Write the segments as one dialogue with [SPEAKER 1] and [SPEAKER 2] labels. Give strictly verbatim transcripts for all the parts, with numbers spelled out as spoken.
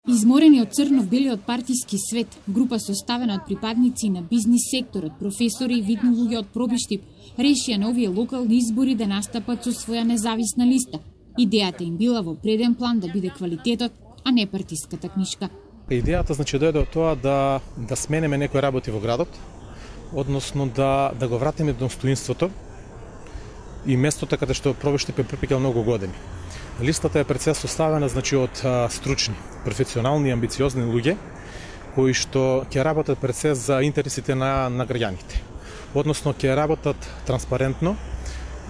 [SPEAKER 1] Изморени од црно-белиот партиски свет, група составена од припадници на бизнис секторот, професори и видни луѓе од Пробиштип, решија на овие локални избори да настапат со своја независна листа. Идејата им била во преден план да биде квалитетот, а не партиската книшка.
[SPEAKER 2] Идејата значи дојде од тоа да да смениме некои работи во градот, односно да да го вратиме достоинството и местото каде што Пробиштип е пропикал многу години. Листата е пред се составена значи од а, стручни, професионални и амбициозни луѓе кои што ќе работат пред се за интересите на на граѓаните. Односно ќе работат транспарентно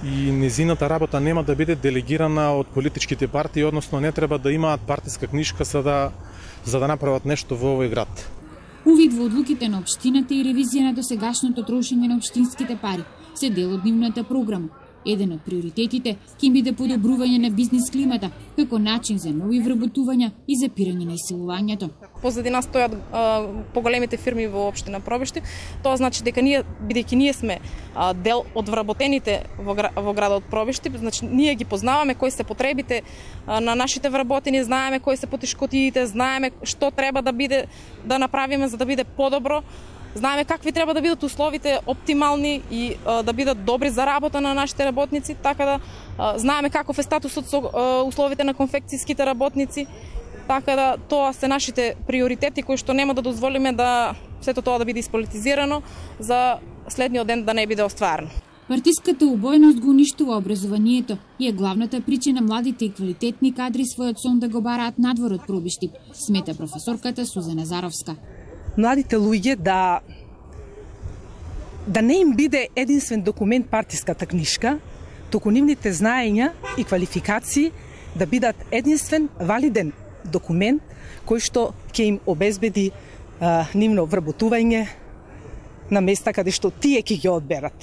[SPEAKER 2] и незината работа нема да биде делегирана од политичките партии, односно не треба да имаат партиска книшка за да за да направат нешто во овој град.
[SPEAKER 1] Увид во одлуките на општината и ревизија на досегашното трошење на општинските пари се дел од нивната програма. Еден од приоритетите ќе биде подобрување на бизнис климата како начин за нови вработувања и запирање на исилувањето.
[SPEAKER 3] Позади нас стојат а, поголемите фирми во општина Пробиштип. Тоа значи дека ние, бидејќи ние сме а, дел од вработените во, во градот Пробиштип, значи ние ги познаваме кои се потребите а, на нашите вработени, знаеме кои се потешкотиите, знаеме што треба да биде да направиме за да биде подобро. Знаеме какви треба да бидат условите оптимални и а, да бидат добри за работа на нашите работници, така да а, знаеме каков е статусот со а, условите на конфекцијските работници, така да тоа се нашите приоритети кои што нема да дозволиме да сето тоа да биде ispolitizirano за следниот ден да не биде остварено.
[SPEAKER 1] Партиската убоеност го уништува образованието и е главната причина младите и квалитетни кадри својот сон да го бараат надвор од Пробиштип, смета професорката Сузана Заровска.
[SPEAKER 4] Младите луѓе да да не им биде единствен документ партиската книшка, туку нивните знаења и квалификации да бидат единствен валиден документ кој што ќе им обезбеди а, нивно вработување на места каде што тие ќе ги одберат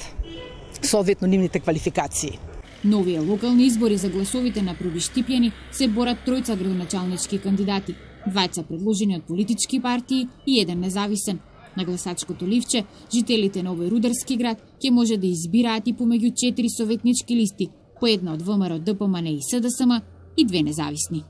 [SPEAKER 4] соодветно нивните квалификации.
[SPEAKER 1] Новија локални избори за гласовите на пробиштипјани се борат тројца градоначалнички кандидати, двајца предложени од политички партии и еден независен. На гласачкото ливче, жителите на овој рударски град ќе може да избираат и помеѓу четири советнички листи, по една од ВМРО, ДПМН и СДСМ и две независни.